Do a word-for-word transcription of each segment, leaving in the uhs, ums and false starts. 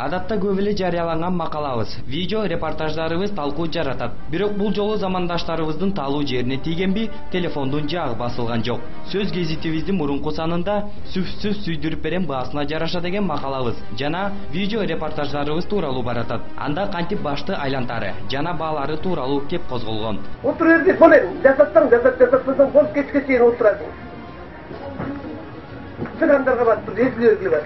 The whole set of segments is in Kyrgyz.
Адатта көп эле жарыяланган макалабыз, видео репортаждарыбыз талкуу жаратат. Бирок бул жолу замандаштарыбыздын таалуу жерине тийгенби, телефондун жагы басылган жок. Сөз гезитибиздин мурунку санында сүф-сүф сүйдүрүп берен баасына жараша деген макалабыз жана видео репортаждарыбыз тууралуу баратат. Анда кантип башты айлантары жана баалары тууралуу кеп козголгон. Отур жерде болен, жасаттан жасап жасатсаң бол кечке чейин отурасың. Чыгандарга батып эсилүү бар.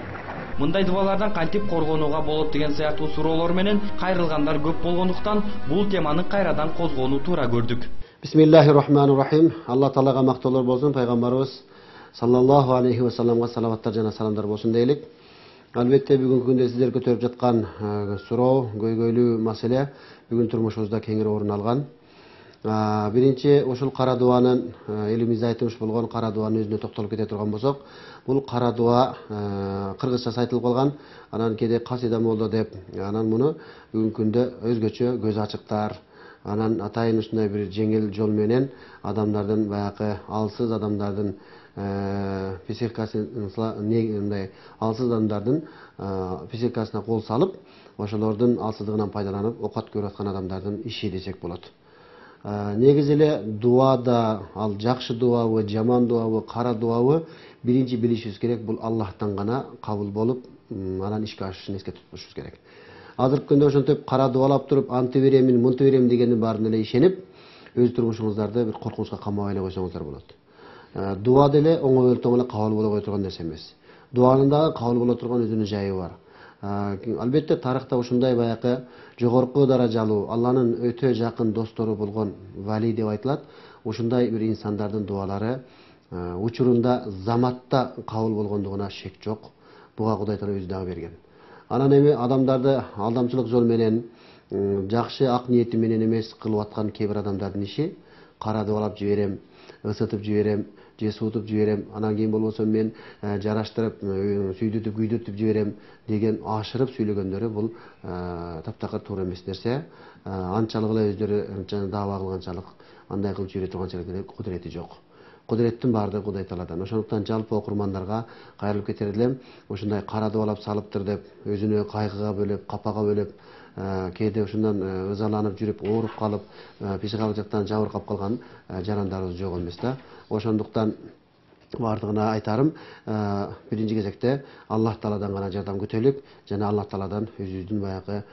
Мындай дубалардан кантип коргонууга болот деген сыяктуу суроолор менен кайрылгандар көп болгондуктан бул теманы кайрадан козгоону туура көрдүк. Бисмиллахир-рахманир-рахим. Алла таалага мактоолор болсун, пайгамбарыбыз саллаллаху алейхи ва салламга салаваттар жана саламдар болсун дейлик. Албетте бүгүнкү күндө сиздер көтөрүп жаткан суроо, көйгөйлүү маселе бүгүн турмушубузда кеңири орун алган. Биринчи ушул кара дуанын элимизде айтылмыш болгон кара дуанын өзүнө токтолуп кете турган болсок, бул кара дуа кыргызчасы айтылып калган, анан кээде касида молдо деп, анан муну бүгүнкү күндө өзгөчө көз ачыктар, анан атайын ушундай бир жеңил жол менен адамдардын баягы алсыз адамдардын психикасын мындай алсыз адамдардын психикасына кол салып, ошолордун алсыздыгынан пайдаланып оокат көрүп аткан адамдардын иши десек болот. Негизи эле дуада ал жакшы дуабы, жаман дуабы, кара дуабы биринчи билишибиз керек, бул Аллахтан гана кабыл болуп, анан ишке ашышын эске тутушубуз керек. Азыркы күндө ошентип кара дуалап туруп, анты беремин, мынты берем дегендин баарына эле ишенип, өз турмушуңуздарды бир коркунучка камап эле койсоңуздар болот. Дуа деле оңой өлтөң эле кабыл боло кой турган нерсе эмес. Дуанын дагы кабыл боло турган өзүнүн жайы бар. Албетте тарыхта ушундай баягы жогорку даражалуу, Алланын өтө жакын достору болгон вали деп айтылат. Ушундай бир инсандардын дуалары учурунда заматта кабыл болгондугуна шек жок. Буга Кудай Таала өзү дагы берген. Анан эми адамдарды алдамчылык жол менен, жакшы ак ниети менен эмес кылып аткан кээ бир адамдардын иши кара дуалап жиберем, ысытып жиберем, же суутуп жиберем, анан кийин болбосо мен жараштырып, сүйдүтүп, күйдөтүп жиберем деген ашырып сүйлөгөндөрү бул таптакыр туура эмес нерсе. Анчалык эле өздөрү даава кылганчалык, андай кылып жибере турганчалык эле кудурети жок. Кудуреттин баардыгы Кудай Тааладан. Ошондуктан жалпы окурмандарга кайрылып кетер элем, ушундай кара дуалап салыптыр деп, өзүнө кайгыга бөлөп, капага бөлөп, кээде ушундан ызаланып жүрүп, ооруп калып, психикалык жактан жабыркап калган жарандарыбыз жок эмес да. Ошондуктан баардыгына айтарым, биринчи кезекте Аллах Тааладан гана жардам күтөлүк жана Аллах Тааладан өзүбүздүн баягы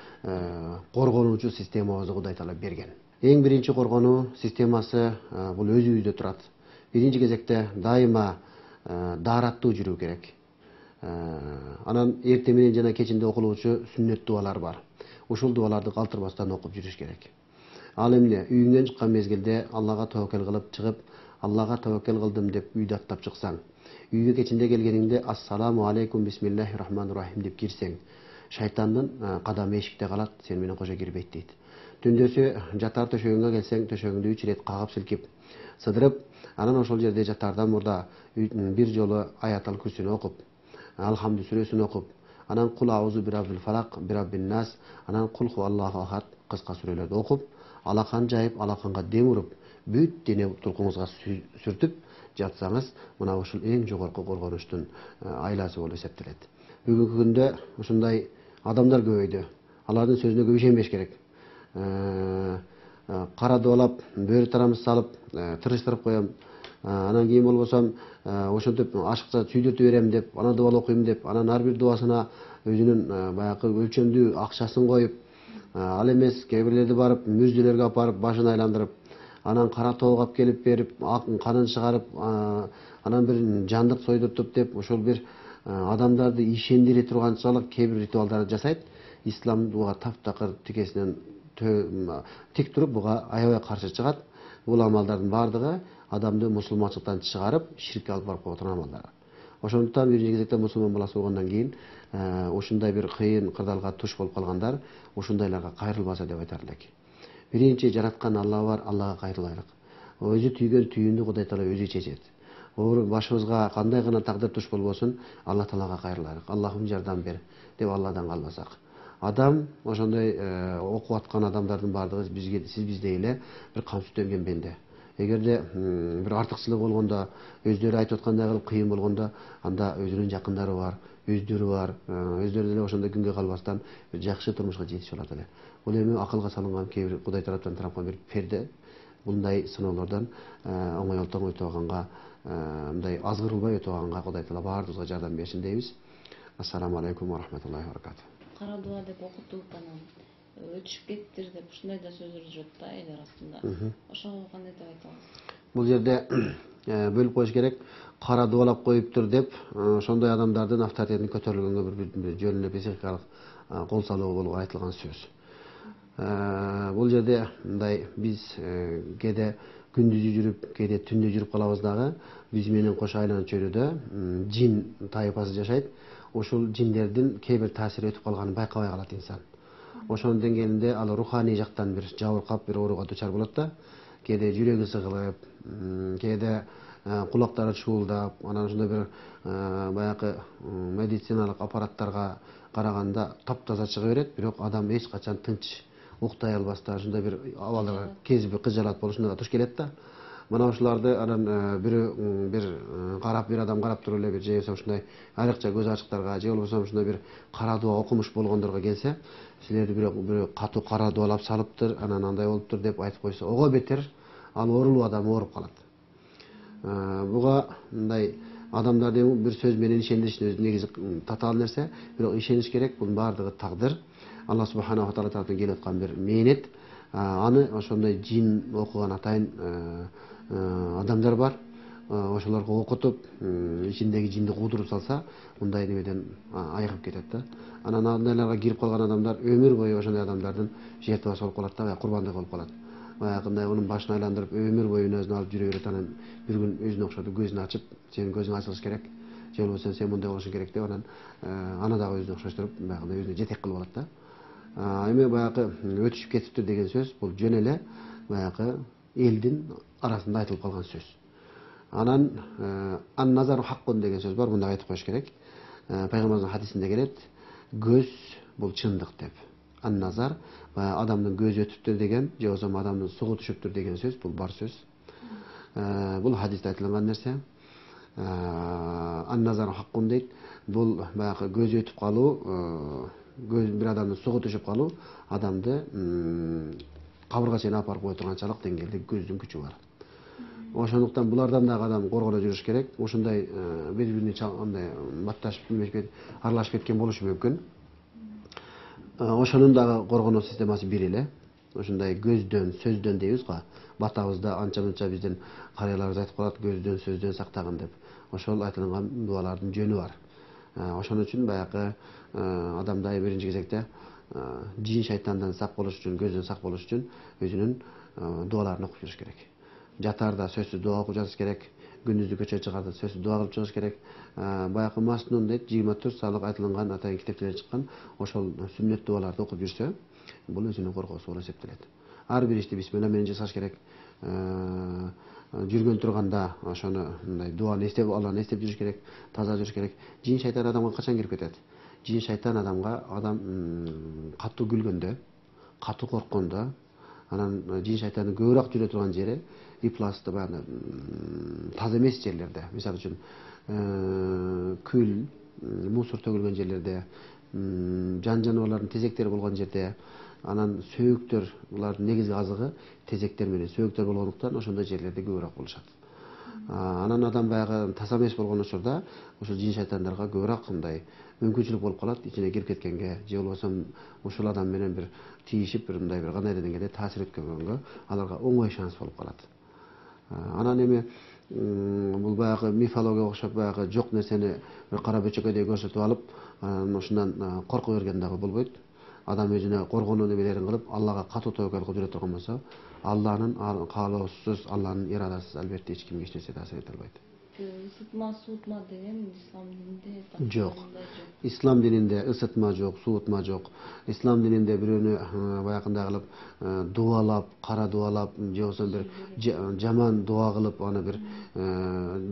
коргонуучу системабызды Кудай Таала берген. Эң биринчи коргонуу системасы бул өзүбүздө турат. Биринчи кезекте дайыма даараттуу жүрүү керек. Анан эртең менен жана кечинде окулуучу сүннөт дуалар бар. Ушул дуаларды калтырбастан окуп жүрүш керек. Ал эмне үйүңдөн чыккан мезгилде Аллага таваккал кылып чыгып, Аллага таваккал кылдым деп үйдү аттап чыксаң, үйгө кечинде келгениңде ассаламу алейкум бисмиллахир-рахманир-рахим деп кирсең, шайтандын кадамы эшикте калат, сен менен кошо кирбейт дейт. Түндөсү жатар төшөгүңө келсең, төшөгүңдү үч ирет кагып силкип, сыдырып, анан ошол жерде жатардан мурда бир жолу аятал күрсүнү окуп, алхамду сүрөсүн окуп, анан кул аузу бираббил фалак, бираббин нас, анан кул хуаллаху ахад кыска сүрөлөрдү окуп, алакан жайып, алаканга дем уруп, бүт дене туркуңузга сүртүп жатсаңыз, мына ушул эң жогорку коргонучтун айласы болуп эсептелет. Бүгүнкү күндө ушундай адамдар көбөйдү. Алардын сөзүнө көп ишенбеш керек. Кара дуалап, бөрү тарамыз салып, тырыштырып коем. Анан кийин болбосом, ошентип ашыкса сүйдөтүп берем деп, анан дуал окуйм деп, анан ар бир дуасына өзүнүн баягы өлчөмдүү акчасын коюп, ал эмес кээ бирлерди барып мүрзөлөргө алып барып башын айландырып, анан кара тоого алып келип берип, канын чыгарып, анан бир жандык сойдуртуп деп, ошол бир адамдарды ишендире турганчалык кээ бир ритуалдарды жасайт. Ислам буга таптакыр тикесинен тик туруп, буга аябай каршы чыгат. Бул амалдардын баардыгы адамды мусулманчылыктан чыгарып, ширкке алып барып кое турган амалдар. Ошондуктан биринчи кезекте мусулман баласы болгондон кийин ушундай бир кыйын кырдаалга туш болуп калгандар ушундайларга кайрылбаса деп айтар элек. Биринчи жараткан Алла бар, Аллага кайрылайлык. Өзү түйгөн түйүндү Кудай Таала өзү чечет. Башыбызга кандай гана тагдыр туш болбосун, Алла Таалага кайрылайлык. Аллахым жардам бер деп Алладан калбасак. Адам ошондой окуп аткан адамдардын баардыгы бизге, сиз биздей эле бир кам сүттөн бенде. эгерде бир артыкчылык болгондо, өздөрү айтып аткандай кылып кыйын болгондо, анда өзүнүн жакындары бар, өздөрү бар, өздөрү деле ошондой күнгө калбастан бир жакшы турмушка жетишип алат эле. Бул эми акылга салынган кээ бир Кудай тараптан тараткан бир перде. Мындай сыноолордон оңой олтоң өтүп алганга, мындай азгырылбай өтүп алганга Кудай таала баарыбызга жардам берсин дейбиз. Ассаламу алейкум ва рахматуллахи ва баракатуh. Кара дуа деп окутуп анан өтүшүп кеттир деп ушундай да сөздөр жүрөт да эл арасында. Ошого кандай деп айта аласыз? Бул жерде бөлүп коюш керек. Кара дуалап коюптур деп ошондой адамдардын авторитетин көтөрүлгөнгө бир жөн эле психикалык кол салуу болуп айтылган сөз. Бул жерде мындай биз кээде күндүзү жүрүп, кээде түндү жүрүп калабыз дагы. Биз менен кош айланып чөйрөдө жин тайпасы жашайт. Ошол жиндердин кээ бир таасири өтүп калганын байкабай калат инсан. Ошонун деңгээлинде ал руханий жактан бир жабыркап бир ооруга дучар болот да. Кээде жүрөгү сыгылып, кээде кулактары чуулдап, анан ошондой бир баягы медициналык аппараттарга караганда таптаза чыга берет, бирок адам эч качан тынч уктай албастан ошондой бир абалдарга кезип кыжалат болушуна туш келет да. Мына ошоларды анан бирөө бир карап, бир адам карап туруп эле бир же болбосо ушундай айрыкча көз ачыктарга, же болбосо ушундай бир кара дуа окумуш болгондорго келсе, силерди бирок бирөө катуу кара дуалап салыптыр, анан андай болуптур деп айтып койсо, ого бетер ал оорулуу адам ооруп калат. Буга мындай адамдарды бир сөз менен ишендиришин өзү негизи татаал нерсе, бирок ишениш керек, бунун баардыгы тагдыр. Алла субханаху таала тараптан келип аткан бир мээнет. Аны ошондой жин окуган атайын адамдар бар. Ошолорго окутуп, ичиндеги жинди куудуруп салса, мындай немеден айыгып кетет да. Анан андайларга кирип калган адамдар өмүр бою ошондой адамдардын жертвасы болуп калат да, курбандыгы болуп калат. Баягындай анын башын айландырып, өмүр бою өзүнө алып жүрө берет. Анан бир күн өзүнө окшотуп көзүн ачып, сенин көзүң ачылыш керек, же болбосо сен мындай болушуң керек деп анан аны дагы өзүнө окшоштуруп, баягындай өзүнө жетек кылып алат да. Эми баягы өтүшүп кетиптир деген сөз, бул жөн эле баягы элдин арасында айтылып калган сөз. Анан ан назару хаккун деген сөз бар, мындай айтып коюш керек. Пайгамбарыбыздын хадисинде келет, көз бул чындык деп. Ан назар адамдын көзү өтүптүр деген, же болбосо адамдын сугу түшүптүр деген сөз, бул бар сөз. Бул хадисте айтылган нерсе. Ан назару хаккун дейт. Бул баягы көзү өтүп калуу, көз бир адамдын сугу түшүп калуу адамды кабырга чейин алып барып кое турганчалык деңгээлде көздүн күчү бар. Ошондуктан булардан дагы адам коргоно жүрүш керек. Ошондой бири-бирине андай батташып, аралашып кеткен болушу мүмкүн. Ошонун дагы коргонуу системасы бир эле. Ошондой көздөн, сөздөн дейбиз го. Батабызда анча-мынча биздин карыяларыбыз айтып калат, көздөн, сөздөн сактагын деп. Ошол айтылган дуалардын жөнү бар. Ошон үчүн баягы адамда биринчи кезекте жин шайтандан сак болуш үчүн, көздөн сак болуш үчүн өзүнүн дуаларын окуп жүрүш керек. Жатарда сөзсүз дуа окуп жатыш керек. Күндүздү көчөгө чыгарды сөзсүз дуа кылып чыгыш керек. Баягы Маснун дейт, жыйырма төрт саалык айтылган атайын китептерден чыккан ошол сүннөт дуаларды окуп жүрсө, бул өзүнүн коргоосу болуп эсептелет. Ар бир ишти бисмилла менен жасаш керек. Жүргөн турганда ошону мындай дуаны эстеп, Алланы эстеп жүрүш керек, таза жүрүш керек. Жин шайтан адамга качан кирип кетет? Жин шайтан адамга адам катуу күлгөндө, катуу корккондо, анан жин шайтандын көбүрөөк жүрө турган жери ипласты баягы таза эмес жерлерде. Мисалы үчүн күл, мусор төгүлгөн жерлерде, жан жаныбарлардын тезектери болгон жерде, анан сөөктөр, булардын негизги азыгы тезектер менен сөөктөр болгондуктан ошондой жерлерде көбүрөөк болушат. Анан адам баягы таза эмес болгон учурда ошол жин шайтандарга көбүрөөк мындай мүмкүнчүлүк болуп калат, ичине кирип кеткенге, же болбосо ушул адам менен бир тийишип, бир мындай бир кандайдыр деңгээлде таасир өткөнгөнгө аларга оңой шанс болуп калат. Анан эми бул баягы мифологияга окшоп баягы жок нерсени бир кара бөчөкөдөй көрсөтүп алып, анан ушундан корко берген дагы болбойт. Адам өзүнө коргонуу немелерин кылып, Аллага катуу тобокел кылып жүрө турган болсо, Алланын каалоосуз, Алланын ирадасыз албетте эч кимге эч нерсе таасир эте албайт. Ысытма, суутма деген ислам дининде жок. Ислам дининде ысытма жок, суутма жок. Ислам дининде бирөөнү баягындай кылып дуалап, кара дуалап, же болбосо бир жаман дуа кылып, аны бир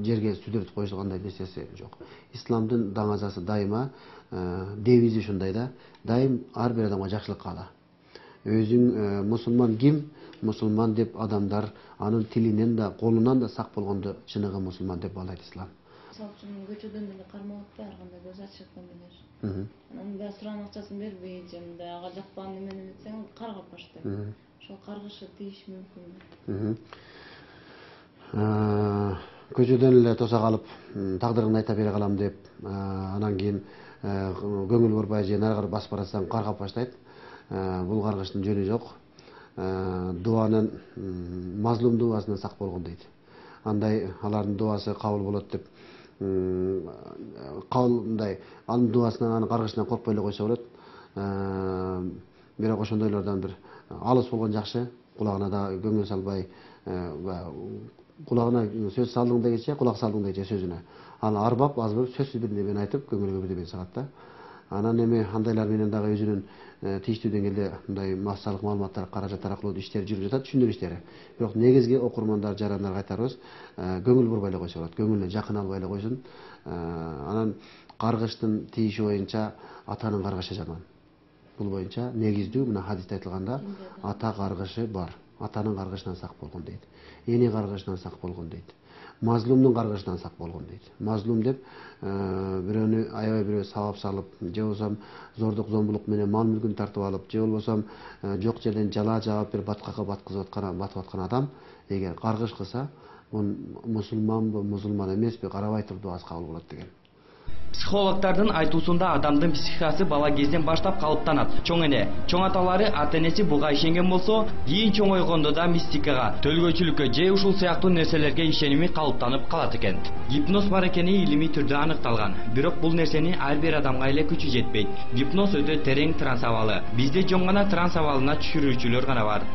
жерге сүдүрүп коюшкандай нерсеси жок. Исламдын даңазасы дайыма девизи ушундай да, дайым ар бир адамга жакшылык каала. өзүң мусулман ким, мусулман деп адамдар анын тилинен да, колунан да сак болгондо чыныгы мусулман деп баалайт ислам. Мисалы үчүн көчөдөн деле кармап атпай, ар кандай көз ачып аткан менен. Анан да суран акчасын бербей, же мындай ага жакпаган немени этсең каргап баштайт. Ошол каргышы тийиш мүмкүнбү? Көчөдөн эле тоса калып, тагдырыңды айта бере калам деп, анан кийин көңүл бурбай же нарыгы басып баратсаң каргап баштайт. Бул каргыштын жөнү жок. Дуанын, мазлум дуасынан сак болгон дейт. Андай алардын дуасы кабыл болот деп кабылдай анын дуасынан, анын каргышынан коркпой эле койсо болот. Бирок ошондойлордон бир алыс болгон жакшы. Кулагына да көңүл салбай, кулагына сөз салдың дегенче, кулак салдың дегенче сөзүнө. Ал арбап, азбап сөзсүз бир нерсени айтып, көңүлгө бирдеме салат да. Анан эми андайлар менен дагы өзүнүн тийиштүү деңгээлде мындай массалык маалыматтар, каражат аркылуу иштер жүрүп жатат, түшүндүрүү иштери. Бирок негизги окурмандар, жарандарга айтарыбыз, көңүл бурбай эле койсо болот, көңүлүнө жакын албай эле койсун. Анан каргыштын тийиши боюнча атанын каргышы жаман. Бул боюнча негиздүү мына хадисте айтылганда ата каргышы бар. Атанын каргышынан сак болгон дейт. Эни каргышынан сак болгон дейт. Мазлумдун каргышынан сак болгон дейт. Мазлум деп бирөөнү аябай бирөө сабап салып, же болбосо зордук зомбулук менен мал мүлкүн тартып алып, же болбосо жок жерден жала жаап бир баткакка баткызып аткан, батып аткан адам эгер каргыш кылса, бул мусулманбы, мусулман эмеспи карабай туруп дуасы кабыл болот деген. Психологдордун айтуусунда адамдын психикасы бала кезден баштап калыптанат. Чоң эне, чоң аталары ата энеси буга ишенген болсо, кийин чоңойгондо да мистикага, төлгөчүлүккө же ушул сыяктуу нерселерге ишеними калыптанып калат экен. Гипноз бар экени илимий түрдө аныкталган. Бирок бул нерсени ар бир адамга эле күчү жетпейт. Гипноз өтө терең транс абалы. Бизде жөн гана транс абалына түшүрүүчүлөр гана бар.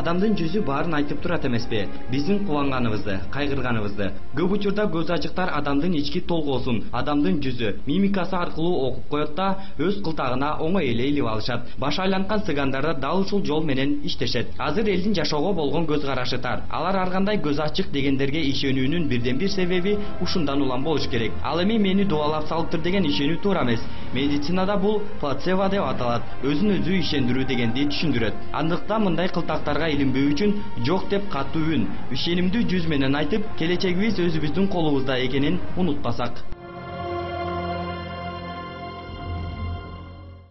Адамдын жүзү баарын айтып турат эмеспи? Биздин кубанганыбызды, кайгырганыбызды. Көп учурда көз ачыктар адамдын ички толгоосун, адамдын жүзү, мимикасы аркылуу окуп коет да, өз кылтагына оңой эле илип алышат. Баш айланткан сыгандар дал ушул жол менен иштешет. Азыр элдин жашоого болгон көз карашы тар. Алар ар кандай көз ачык дегендерге ишенүүнүн бирден бир себеби ушундан улам болуш керек. Ал эми мени дубалап салыптыр деген ишенүү туура эмес. Медицинада бул плацебо деп аталат. Өзүн өзү ишендирүү дегенди түшүндүрөт. Андыктан мындай кылтактарга илинбөө үчүн жок деп катуу үн, ишенимдүү жүз менен айтып, келечегибиз өзүбүздүн колубузда экенин унутпасак.